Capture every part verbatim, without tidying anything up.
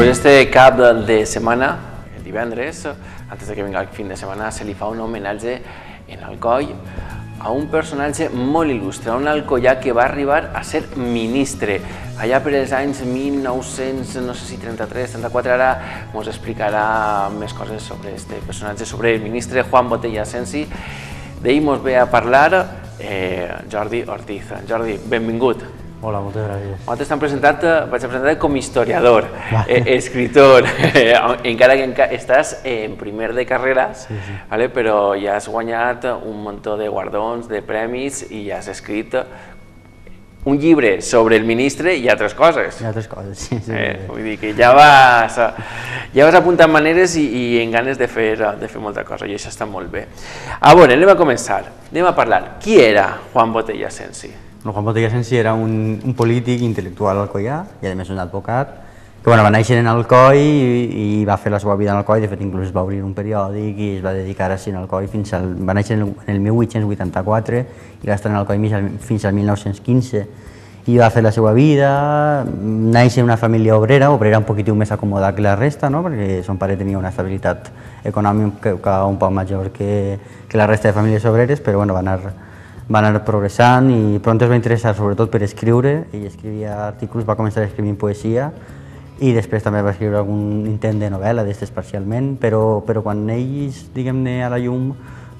Pues este cap de setmana, el divendres, antes de que vinga el fin de setmana, se li fa un homenatge en Alcoi a un personatge molt il·lustre, un alcoià que va arribar a ser ministre allà per els anys mil nou-cents, no sé si trenta-tres, trenta-quatre, ara ens explicarà més coses sobre este personatge, sobre el ministre Juan Botella Asensi. D'ell ens ve a parlar eh, Jordi Ortiz. Jordi, benvingut. Hola, moltes gràcies. Nosaltres t'hem presentat, vaig a presentar com historiador, eh, escritor, eh, encara que enca estàs en primer de carrera, sí, sí. ¿vale? Però ja has guanyat un muntó de guardons, de premis i ja has escrit un llibre sobre el ministre i altres coses. I altres coses, sí. sí, eh, sí. Vull dir que ja vas, ja vas apuntant maneres i, i en ganes de fer, de fer molta cosa, i això està molt bé. A veure, anem a començar, anem a parlar. Qui era Juan Botella Asensi? Bueno, Juan Botella Asensi era un, un polític intel·lectual alcoià i a més un advocat que bueno, va néixer en Alcoi i, i va fer la seva vida en Alcoi. De fet, inclús va obrir un periòdic i es va dedicar a ser en Alcoi fins al... Va néixer en el mil vuit-cents vuitanta-quatre i va estar en Alcoi fins al mil nou-cents quinze i va fer la seva vida. Néixer en una família obrera, obrera un poquitiu més acomodada que la resta, no? Perquè son pare tenia una estabilitat econòmica un poc major que, que la resta de famílies obreres, però bueno, va anar... va anar progressant i pront es va interessar sobretot per escriure. Ell escrivia articles, va començar escrivint poesia i després també va escriure algun intent de novel·la d'estes parcialment, però, però quan ells, diguem-ne, a la llum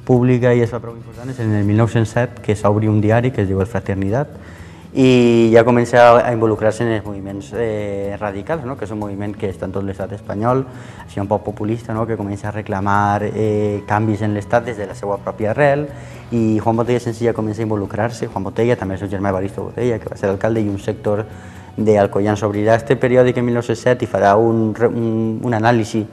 pública i es fa prou important és en el mil nou-cents set que s'obri un diari que es diu El Fraternidad i ja comença a involucrar-se en els moviments eh, radicals, no? Que és un moviment que està en tot l'estat espanyol, així un poc populista, no? Que comença a reclamar eh, canvis en l'estat des de la seva pròpia arrel i Juan Botella Asensi ja comença a involucrar-se. Juan Botella, també el seu germà Evaristo Botella, que va ser alcalde, i un sector d'alcoians obrirà este periòdic en mil nou-cents set i farà un, un, un anàlisi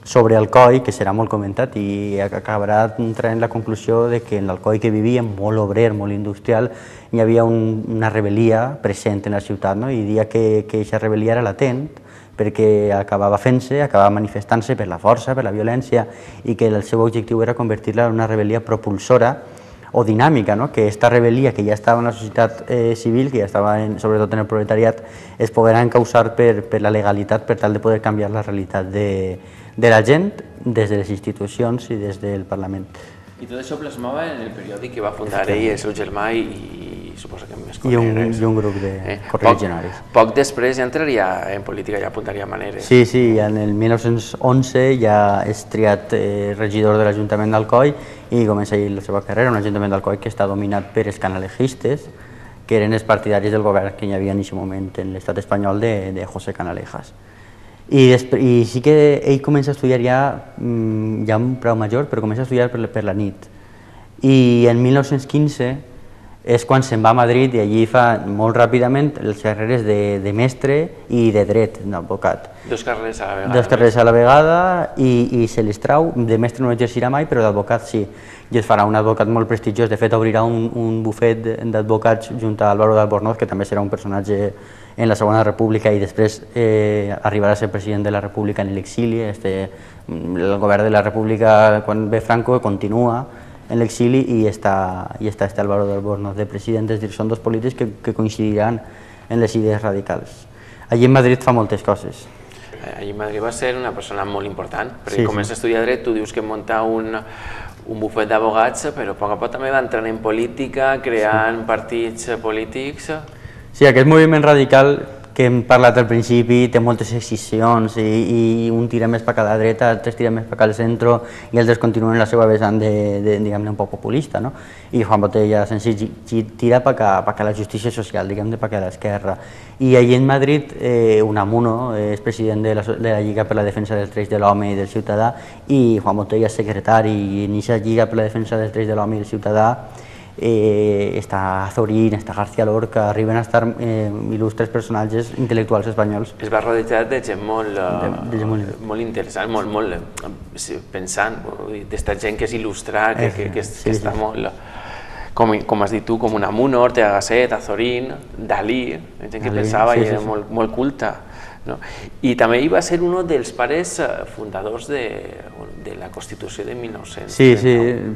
sobre Alcoi, que serà molt comentat i acabarà traient la conclusió de que en l'Alcoi que vivia, molt obrer, molt industrial, hi havia un, una rebel·lia present en la ciutat, no? I dia que aquesta rebel·lia era latent, perquè acabava fent-se, acabava manifestant-se per la força, per la violència, i que el seu objectiu era convertir-la en una rebel·lia propulsora o dinàmica, no? Que aquesta rebel·lia que ja estava en la societat eh, civil, que ja estava en, sobretot en el proletariat, es poguera encausar per, per la legalitat per tal de poder canviar la realitat de, de la gent des de les institucions i des del Parlament. I tot això plasmava en el periòdic que va fundar ell, el seu germà i, i suposo que més I un, i un grup de eh, correligionaris. Poc, poc després ja entraria en política, ja apuntaria maneres. Sí, sí, en el mil nou-cents onze ja és triat eh, regidor de l'Ajuntament d'Alcoi i comença ahir la seva carrera, un Ajuntament d'Alcoi que està dominat per els canalejistes, que eren els partidaris del govern que hi havia en aquest moment en l'estat espanyol de, de José Canalejas. I, I sí que ell comença a estudiar ja, ja un preu major, però comença a estudiar per, per la nit. I en mil nou-cents quinze és quan se'n va a Madrid i allí fa molt ràpidament les carreres de, de mestre i de dret, d'advocat. Dos carreres a la vegada. Dos carreres a la vegada i, i se les trau. De mestre no exercirà mai, però d'advocat sí. I es farà un advocat molt prestigiós. De fet, obrirà un, un bufet d'advocats junt a Álvaro de Albornoz, que també serà un personatge en la Segona República i després eh, arribarà a ser president de la República en l'exili. Este, el govern de la República, quan ve Franco, continua en l'exili i està, i està este Álvaro de Albornoz de president. És dir, són dos polítics que, que coincidiran en les idees radicals. Allí en Madrid fa moltes coses. Allí en Madrid va ser una persona molt important, perquè sí, comença sí. a estudiar dret, tu dius que munta un, un bufet d'abogats, però a poc a poc també va entrant en política, creant sí. partits polítics. Sí, aquest moviment radical que hem parlat al principi té moltes excisions i, i un tira més per a la dreta, altres tira més per al centre i altres continuen la seva vessant de, de, diguem-ne, un poc populista, no? I Juan Botella Asensi tira per a la justícia social, diguem-ne, per a l'esquerra. I allí en Madrid, eh, Unamuno és president de la, de la Lliga per la Defensa dels Drets de l'Home i del Ciutadà i Juan Botella és secretari i en aquesta Lliga per la Defensa dels Drets de l'Home i del Ciutadà Eh, està Azorín, està García Lorca, arriben a estar eh, il·lustres personatges intel·lectuals espanyols. Es va rodejar de gent molt, de, de gent molt... molt interessant, molt, molt pensant, d'esta gent que és il·lustra, que, que, que, sí, que està sí. molt... Com, com has dit tu, com Unamuno, Ortega Gasset, Azorín, Dalí, gent que Dalí, pensava sí, i era sí, sí. Molt, molt culta. No? I també ell va ser un dels pares fundadors de, de la Constitució de mil nou-cents. Sí, sí,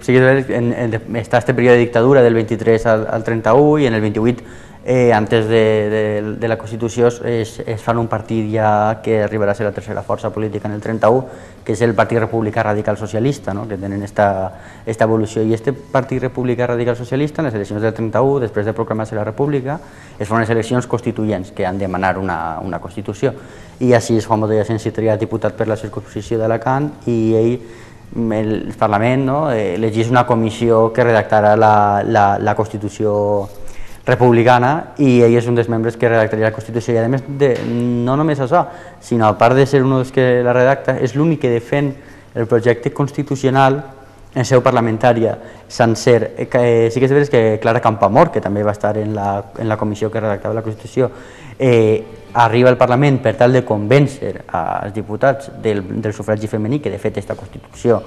sí en, en, està este període de dictadura del vint-i-tres al, al trenta-u i en el vint-i-vuit eh, antes de, de, de la Constitució es, es fan un partit ja que arribarà a ser la tercera força política en el trenta-u, que és el Partit Republicà Radical Socialista, no? Que tenen esta, esta evolució. I este Partit Republicà Radical Socialista, en les eleccions del trenta-u, després de proclamar-se la República, es fan unes eleccions constituents que han de demanar una, una Constitució. I així és Juan Botella Asensi triat diputat per la circunscripció d'Alacant i ell, el Parlament, no? elegís una comissió que redactarà la, la, la Constitució republicana i ell és un dels membres que redactaria la Constitució i a més de, no només això, sinó a part de ser un dels que la redacta, és l'únic que defèn el projecte constitucional en seu parlamentària sencer. Eh, sí que és veritat que Clara Campoamor, que també va estar en la, en la comissió que redactava la Constitució, eh, arriba al Parlament per tal de convèncer als diputats del, del sufragi femení, que de fet aquesta Constitució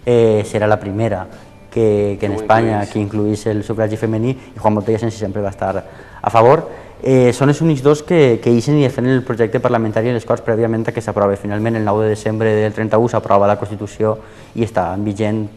eh, serà la primera que, que en Espanya que incluís el sufragi femení, i Juan Botella Asensi sempre va estar a favor. Eh, són els únics dos que, que ixen i defenen el projecte parlamentari en les Corts prèviament a que s'aprova. Finalment, el nou de desembre del trenta-u s'aprova la Constitució i està vigent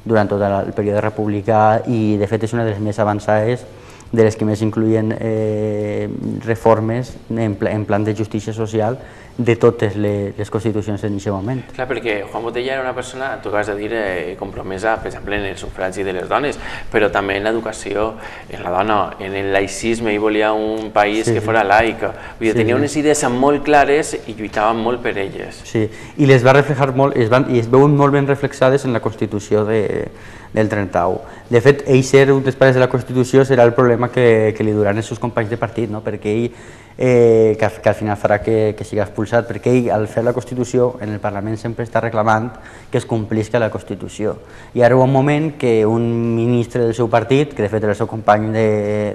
durant tot el període republicà i de fet és una de les més avançades, de les que més incluïen eh, reformes en, pla, en plan de justícia social de totes les, les constitucions en aquest moment. Clar, perquè Juan Botella era una persona, tu acabes de dir, eh, compromesa, per exemple, en el sufragi de les dones, però també en l'educació, en la dona, en el laïcisme, ell volia un país sí, que fos laic. Vull dir, sí, tenia sí. unes idees molt clares i lluitaven molt per elles. Sí, i les va reflejar molt, es van, i es veuen molt ben reflexades en la Constitució de, del trenta-u. De fet, ell ser un dels pares de la Constitució serà el problema que, que li duran els seus companys de partit, no? Perquè ell, eh, que, que al final farà que, que sigui expulsat, perquè ell, al fer la Constitució, en el Parlament sempre està reclamant que es complisca la Constitució. I ara hi ha un moment que un ministre del seu partit, que de fet era el seu company de,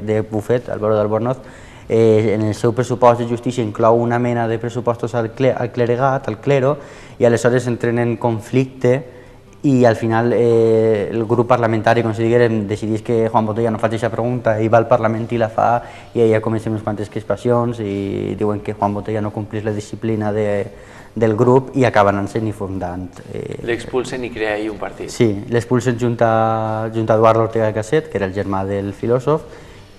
de bufet, Álvaro de Albornoz, eh, en el seu pressupost de justícia inclou una mena de pressupostos al, cle, al cleregat, al clero, i aleshores entren en conflicte i al final eh, el grup parlamentari, com si diguérem, decidís que Juan Botella no faci aquesta pregunta, ell va al Parlament i la fa i allà comencen unes quantes crispacions i diuen que Juan Botella no complís la disciplina de, del grup i acaben anant-se'n i fundant. Eh, L'expulsen i crea ahir un partit. Sí, l'expulsen junt a, junt a Eduardo Ortega y Gasset, que era el germà del filòsof,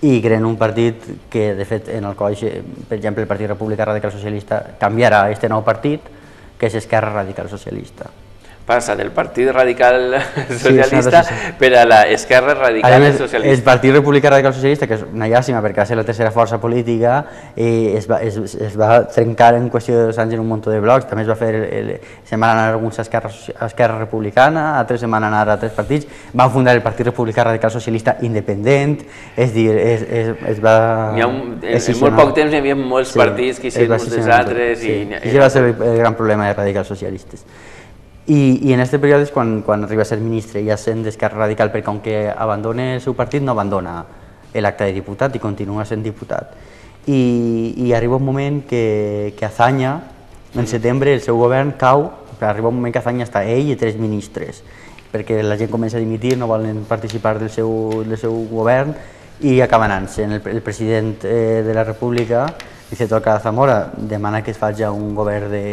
i creen un partit que, de fet, en el qual, per exemple, el Partit Republicà Radical Socialista canviarà aquest nou partit, que és Esquerra Radical Socialista. Passa del Partit Radical Socialista sí, per a l'Esquerra Radical més, Socialista. El Partit Republicà Radical Socialista, que és una llàstima perquè va ser la tercera força política, eh, es, va, es, es va trencar en qüestió de dos anys en un munt de blocs, també es va fer, el, el, se'n van anar alguns a Esquerra, a Esquerra Republicana, altres se'n van anar a tres partits, van fundar el Partit Republicà Radical Socialista independent, és dir, es, es, es va... Ha un, en, en molt poc temps hi havia molts sí, partits que hicieron uns dels altres. Sí. I, i això va ser el, el gran problema de radicals socialistes. I, i en aquest període és quan, quan arriba a ser ministre, ja sent d'Esquerra Radical, perquè com que abandona el seu partit no abandona l'acte de diputat i continua sent diputat. I, i arriba un moment que, que Azaña, en setembre, el seu govern cau, arriba un moment que Azaña està ell i tres ministres, perquè la gent comença a dimitir, no volen participar del seu, del seu govern i acaba anant-se. El, el president eh, de la República, Vicente Alcalá Zamora, demana que es faci un govern de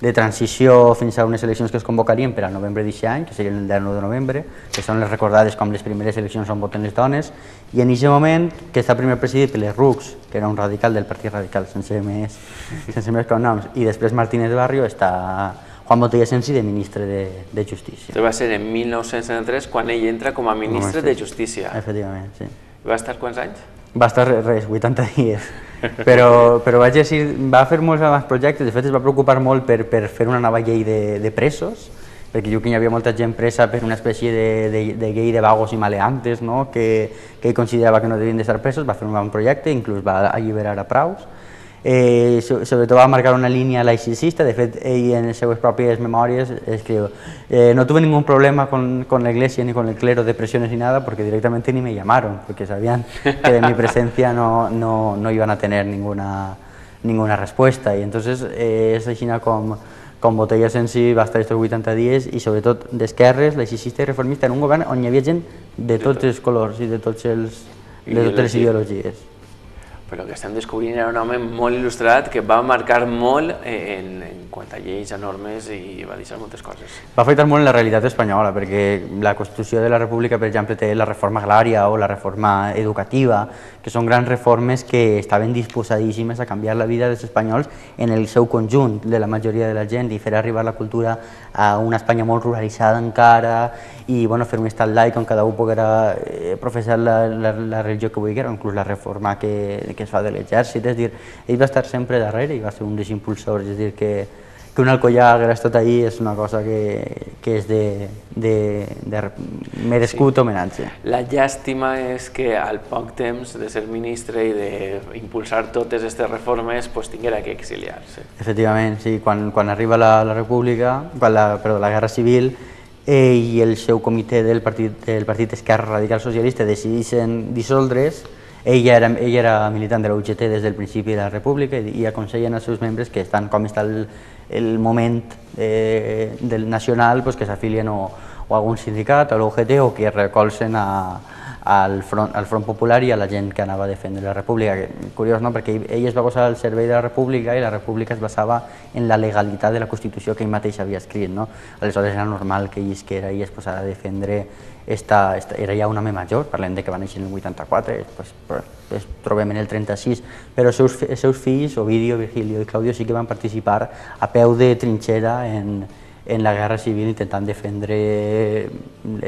de transició fins a unes eleccions que es convocarien per al novembre d'aquest any, que serien el dinou de novembre, que són les recordades com les primeres eleccions on voten les dones, i en aquest moment, que està primer presidit per l'Errux, que era un radical del Partit Radical, sense més, sense més cognoms, i després Martínez Barrio, està Juan Botella Asensi de ministre de, de Justícia. Això va ser en mil nou-cents setanta-tres quan ell entra com a ministre de Justícia. Efectivament, sí. Va estar quants anys? Va estar res, vuitanta dies. Però, però vaig dir, va fer molts més projectes, de fet es va preocupar molt per, per fer una nova llei de, de presos, perquè diu que hi havia molta gent presa per una espècie de, de, de llei de vagos i maleantes, no? que, que ell considerava que no devien d'estar presos, va fer un bon projecte, inclús va alliberar a praus. Eh, sobretot va marcar una línia laicista, de fet ell en les seues pròpies memòries escriu eh, no tuve ningún problema con, con la iglesia ni con el clero de presiones ni nada porque directamente ni me llamaron, porque sabían que de mi presencia no, no, no iban a tener ninguna, ninguna respuesta y entonces eh, és així com, com Botella Asensi va estar estos vuitanta dies i sobretot d'esquerres, laicista i reformista en un govern on hi havia gent de tots els colors i de, tots els, de totes les ideologies. però el que estem descobrint era un home molt il·lustrat que va marcar molt en, en quant a lleis, a normes i va deixar moltes coses. Va afectar molt en la realitat espanyola perquè la Constitució de la República, per exemple, té la reforma agrària o la reforma educativa, que són grans reformes que estaven disposadíssimes a canviar la vida dels espanyols en el seu conjunt, de la majoria de la gent, i fer arribar la cultura a una Espanya molt ruralitzada encara i bueno, fer un estat laic on cada un poguera eh, professar la, la, la religió que vulgui, o inclús la reforma que, que es fa de l'exèrcit. És dir, ell va estar sempre darrere i va ser un dels impulsors. És dir, que, que un alcoià hagués estat ahí és una cosa que, que és de, de, de merescut sí. homenatge. La llàstima és que al poc temps de ser ministre i d'impulsar totes aquestes reformes pues, tinguera que exiliar-se. Efectivament, sí. Quan, quan arriba la, la República, quan la, perdó, la Guerra Civil, ell i el seu comitè del Partit, del partit Esquerra Radical Socialista decideixen dissoldre's. Ell era, ell era militant de la U G T des del principi de la República i, i aconsellen als seus membres que estan com està el, el moment eh, del nacional pues, que s'afilien o, o a algun sindicat, a l'U G T, o que recolzen a, al, front, al Front Popular i a la gent que anava a defendre la República. Curiós, no? Perquè ell es va posar al servei de la República i la República es basava en la legalitat de la Constitució que ell mateix havia escrit. No? Aleshores era normal que ell isquera i es posara a defendre. Esta, esta, era ja un home major, parlem de que va néixer en el vuitanta-quatre, pues, pues, trobem en el trenta-sis, però els seus, els seus fills, Ovidio, Virgilio i Claudio, sí que van participar a peu de trinxera en, en la Guerra Civil intentant defendre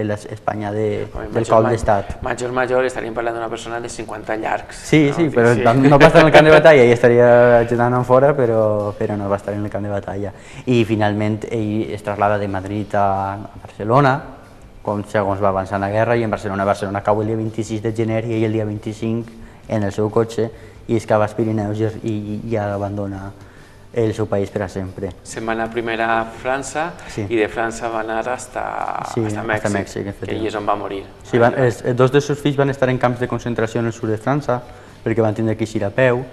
l'Espanya de, del cop d'estat. Major, major, estaríem parlant d'una persona de cinquanta llargs. Sí, no? sí, però sí. no va estar en el camp de batalla, ell estaria ajudant en fora, però, però no va estar en el camp de batalla. I finalment ell es traslada de Madrid a Barcelona, com segons va avançar la guerra, i en Barcelona, Barcelona cau el dia vint-i-sis de gener i ell el dia vint-i-cinc en el seu cotxe i es cava als Pirineus i, i, i abandona el seu país per a sempre. Se'n va anar primer a França sí. i de França va anar hasta, sí, hasta Mèxic, hasta Mèxic que ell és on va morir. Sí, van, els, dos dels seus fills van estar en camps de concentració en el sud de França perquè van tindre que eixir a peu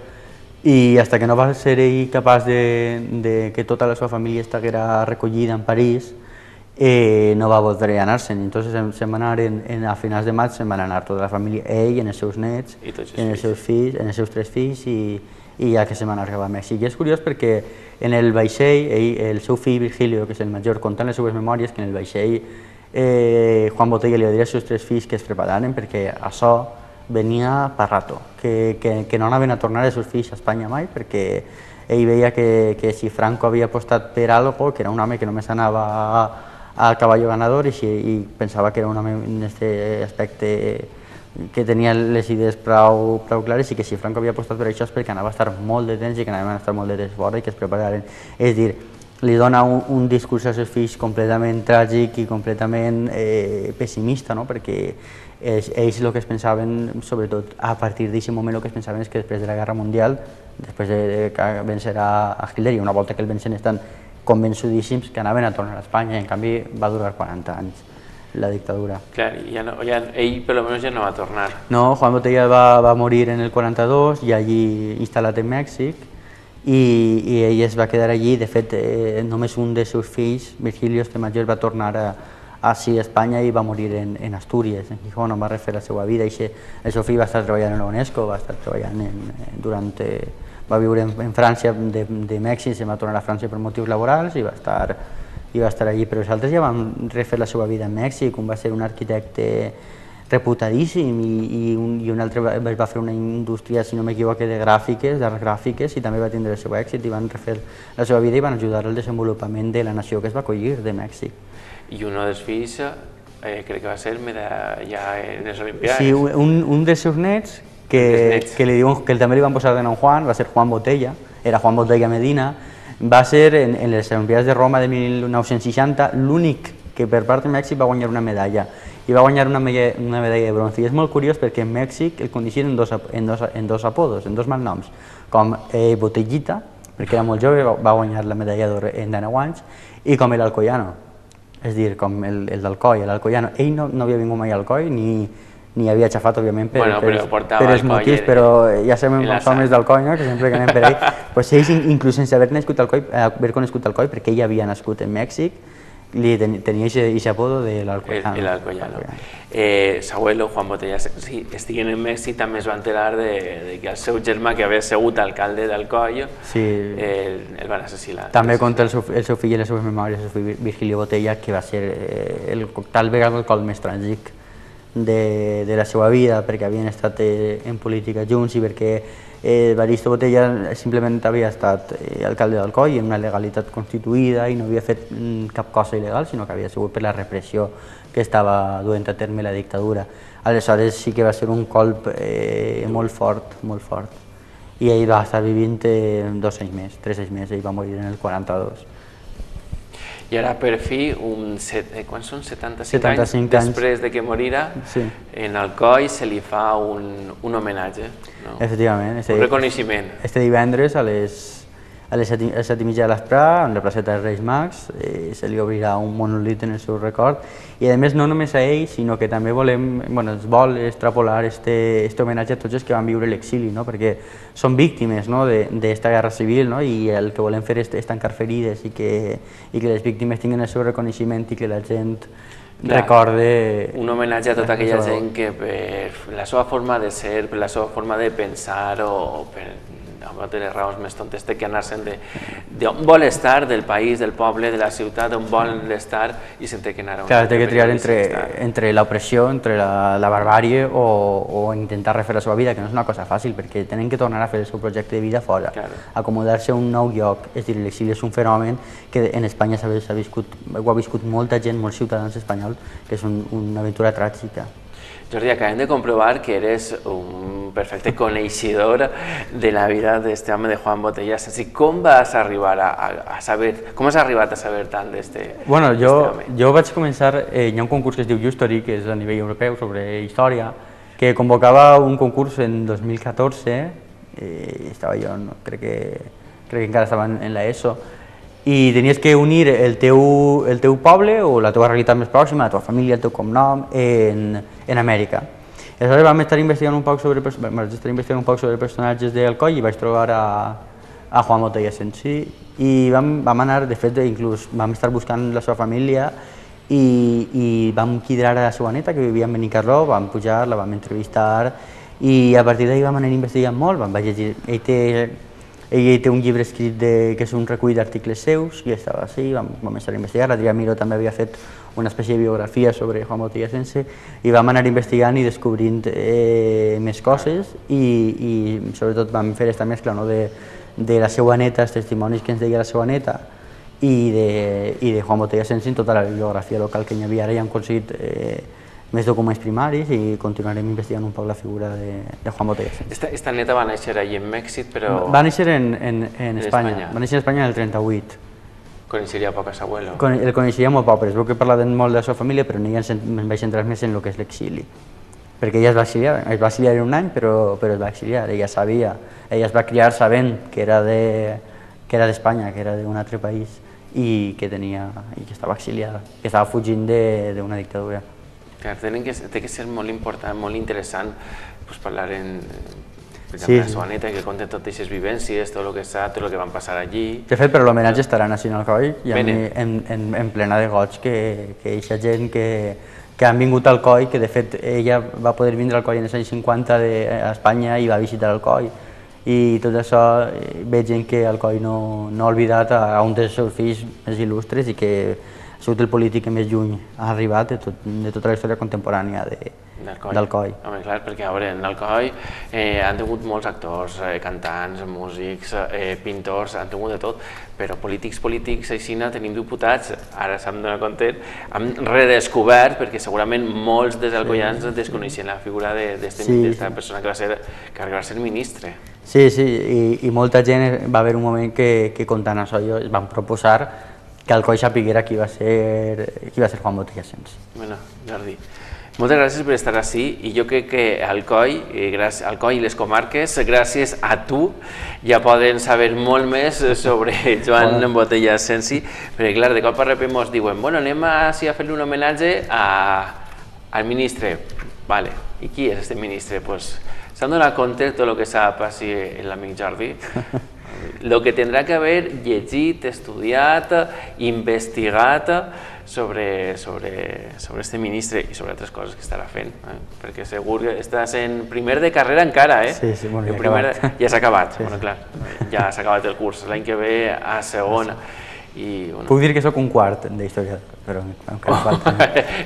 i fins que no va ser ell capaç de, de que tota la seva família estiguera recollida en París, Eh, no va voler anar-se'n, entonces se'n va anar en, en, a finals de maig, se'n van anar tota la família, ell, en els seus nets, en els seus fills, en els seus tres fills i, i ja que se'n va anar a Mèxic. I és curiós perquè en el vaixell, ell, el seu fill Virgilio, que és el major, contant les seues memòries, que en el vaixell eh, Juan Botella li va dir als seus tres fills que es prepararen perquè això venia per rato, que, que, que no anaven a tornar els seus fills a Espanya mai perquè ell veia que, que si Franco havia apostat per algo, que era un home que només anava a al caballo ganador i, si, i pensava que era un home en aquest aspecte que tenia les idees prou, prou clares i que si Franco havia apostat per això és perquè anava a estar molt de temps i que anaven a estar molt de temps fora i que es prepararen. És dir, li dona un, un discurs als seus fills completament tràgic i completament eh, pessimista, no? Perquè ells, ells el que es pensaven, sobretot a partir d'aquest moment, el que es pensaven és que després de la Guerra Mundial, després de, de vencer a, a Hitler, i una volta que el vencen estan convençudíssims que anaven a tornar a Espanya, i en canvi va durar quaranta anys la dictadura. Clar, ja no, ja, ell per almenys ja no va tornar. No, Juan Botella va, va morir en el quaranta-dos i allí instal·lat en Mèxic i, i ell es va quedar allí. De fet, eh, només un dels seus fills, Virgilio, este major, va tornar a, a, sí, a Espanya i va morir en, en Astúries, en Gijón, on va refer la seva vida. I el seu fill va estar treballant en la UNESCO, va estar treballant en, durant... Eh, va viure en, en França, de, de Mèxic, se va tornar a França per motius laborals i va estar, i va estar allí. Però els altres ja van refer la seva vida a Mèxic, un va ser un arquitecte reputadíssim i, i, un, i un altre va, va fer una indústria, si no m'equivoco, de gràfiques, d'arts gràfiques, i també va tindre el seu èxit i van refer la seva vida i van ajudar al desenvolupament de la nació que es va acollir, de Mèxic. I un dels fills eh, crec que va ser ja en les Olimpiades. Sí, un, un dels seus nets, que, que, li diuen, que també li van posar de nom Juan, va ser Juan Botella, era Juan Botella Medina, va ser en, en les Olimpiades de Roma de mil nou-cents seixanta l'únic que per part de Mèxic va guanyar una medalla, i va guanyar una medalla, una medalla de bronze. I és molt curiós perquè en Mèxic el coneixien en dos, en dos, en dos apodos, en dos malnoms, com eh, Botellita, perquè era molt jove, va guanyar la medalla d'or en deu anys, i com el Alcoyano, és dir, com el, el d'Alcoi, l'Alcoyano. Ell no, no havia vingut mai a Alcoi, ni ni havia xafat, òbviament, per, bueno, per, per els motius, però ja sabem els homes d'Alcoi, no? Que sempre que anem per ell, pues ells, inclús sense haver nascut Alcoi, haver conegut Alcoi, perquè ell havia nascut en Mèxic, tenia aquest apodo de l'Alcoyano. El Alcoyano. Eh, S'abuelo, Juan Botella Sensi, estiguen en Mèxic, també es va enterar de, de que el seu germà, que havia sigut alcalde d'Alcoi, sí. el, el van assassinar. També conta el seu, el seu fill i les seves memòries, el seu fill Virgilio Botella, que va ser eh, el, tal vegada el cop més tràgic de, de la seva vida, perquè havien estat eh, en política junts i perquè eh, Evaristo Botella simplement havia estat eh, alcalde d'Alcoi en una legalitat constituïda i no havia fet mm, cap cosa il·legal, sinó que havia sigut per la repressió que estava duent a terme la dictadura. Aleshores sí que va ser un colp eh, molt fort, molt fort. I ell va estar vivint eh, dos anys més, tres anys més, ell va morir en el quaranta-dos. I ara, per fi, un set, eh, quan són setanta-cinc, setanta-cinc anys, anys després de que morira, sí. en Alcoi se li fa un, un homenatge, no? Efectivament. Este, un reconeixement. Este divendres a les, a les set, a les set i mitja de l'esprà, en la placeta dels Reis Mags, eh, se li obrirà un monolit en el seu record. I a més, no només a ell, sinó que també volem, bueno, es vol extrapolar este, este homenatge a tots els que van viure l'exili, no? Perquè són víctimes, no? d'esta guerra civil, no? I el que volem fer és, és tancar ferides i que, i que les víctimes tinguin el seu reconeixement i que la gent Clar, recorde... Un homenatge a tota aquella gent que per la seva forma de ser, per la seva forma de pensar o per de les raons més tontes té que anar-se'n d'on vol estar, del país, del poble, de la ciutat, on vol estar i se'n té que anar a un Clar, té que triar entre, entre l'opressió, entre la, la barbàrie o, o intentar refer la seva vida, que no és una cosa fàcil, perquè tenen que tornar a fer el seu projecte de vida fora, claro. Acomodar-se a un nou lloc. És a dir, l'exili és un fenomen que en Espanya s'ha viscut, ho ha viscut molta gent, molts ciutadans espanyols, que és un, una aventura tràgica. Jordi, acabem de comprobar que eres un perfecte coneixedor de la vida d'este home de Juan Botella Sensi. Com vas arribar a, a saber, com has arribat a saber tant d'este bueno, jo, home? Jo vaig començar, eh, hi ha un concurs que es diu Justory, que és a nivell europeu sobre història, que convocava un concurs en dos mil catorze, eh, estava jo, no, crec, que, crec que encara estava en la ESO, i tenies que unir el teu, el teu poble o la teva realitat més pròxima, la teva família, el teu cognom, en, en Amèrica. Aleshores vam estar investigant un poc sobre, vam estar investigant un poc sobre personatges d'Alcoi i vaig trobar a, a Juan Botella Sensi i vam, vam anar, de fet, inclús vam estar buscant la seva família i, i vam quidrar a la seva neta que vivia en Benicarló, vam pujar, la vam entrevistar i a partir d'ahir vam anar investigant molt, vam llegir, ell té Ell té un llibre escrit de, que és un recull d'articles seus, i estava així, vam començar a investigar. L'Adrià Miró també havia fet una espècie de biografia sobre Juan Botella Sensi i vam anar investigant i descobrint eh, més coses i, i sobretot vam fer aquesta mescla, no, de, de la seva neta, els testimonis que ens deia la seva neta i de, i de Juan Botella Sensi en tota la bibliografia local que hi havia. Ara ja hem aconseguit eh, més documents primaris i continuarem investigant un poc la figura de, de Juan Botella Sensi. Esta, esta neta va néixer allí en Mèxic, però... Va néixer en, en, en, en Espanya. Espanya, va néixer en Espanya en el trenta-vuit. Coneixeria poc a s'abuelo? Con, el coneixeria molt poc, però es veu que parlaven molt de la seva família, però no em vaig centrar més en el que és l'exili. Perquè ella es va exiliar, es va exiliar un any, però, però es va exiliar, ella sabia, ella es va criar sabent que era de, que era d'Espanya, que era d'un altre país i que tenia, i que estava exiliada, que estava fugint d'una dictadura. Clar, tenen que, té que ser molt important, molt interessant pues, parlar en, per exemple, sí, la seva neta, que conten totes aquestes vivències, tot el que sap, tot el que van passar allí. De fet, però l'homenatge estarà a Nacional Coi i a mi en, en, en plena de goig que, que eixa gent que, que han vingut al Coi, que de fet ella va poder vindre al Coi en els anys cinquanta de, a Espanya i va visitar el Coi. I tot això veig gent que el Coi no, no ha oblidat a, a un dels seus fills més il·lustres i que ha sigut el polític que més lluny ha arribat de, tot, de tota la història contemporània de, d'Alcoi. Home, clar, perquè a veure, en Alcoi eh, han tingut molts actors, eh, cantants, músics, eh, pintors, han tingut de tot, però polítics, polítics, aixina, tenim diputats, ara s'han donat compte, hem redescobert, perquè segurament molts dels alcoians sí. desconeixien la figura d'esta sí, sí. persona que va ser, que arribarà a ser ministre. Sí, sí, i, i molta gent, va haver un moment que, que contant això, es van proposar que Alcoi sapiguera qui va ser, qui va ser Juan Botella Sensi. Bueno, Jordi, moltes gràcies per estar així i jo crec que Alcoi, gràcies, Alcoi i les comarques, gràcies a tu, ja poden saber molt més sobre Joan bueno. Botella Sensi, perquè clar, de cop a repent ens diuen, bueno, anem a, sí, a fer-li un homenatge a, al ministre. Vale, i qui és aquest ministre? Pues, s'han donat compte de tot el que sap així l'amic Jordi. el que tindrà que haver llegit, estudiat, investigat sobre sobre sobre este ministre i sobre altres coses que estarà fent, eh? Perquè segur que estàs en primer de carrera encara, eh? Sí, sí, bueno, ja primer, acabat. ja s'ha acabat, Sí, bueno, sí. clar, ja s'ha acabat el curs, l'any que ve a segona. I, bueno. Puc dir que sóc un quart d'història, però encara falta.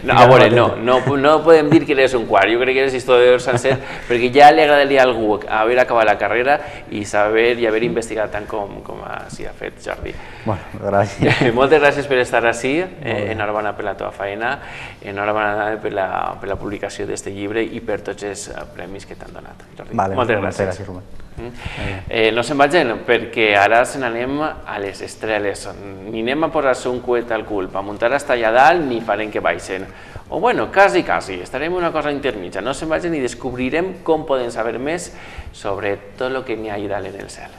No, a veure, no, no, no podem dir que eres un quart, jo crec que eres historiador sencer, perquè ja li agradaria a algú haver acabat la carrera i saber i haver investigat tant com, com s'hi ha fet, Jordi. Bueno, gràcies. Moltes gràcies per estar ací, eh, enhorabona per la teva feina, enhorabona per la, per la publicació d'aquest llibre i per tots els premis que t'han donat, Jordi. Vale, moltes moltes gràcies. gràcies, Rubén. Eh, no se'n vagin, perquè ara se n'anem a les estreles. Ni anem a posar-se un coet al cul per muntar hasta allà dalt, ni farem que baixen. O bueno, quasi, quasi, estarem una cosa intermitja. No se'n vagin i descobrirem com podem saber més sobre tot el que n'hi ha allà dalt en el cel.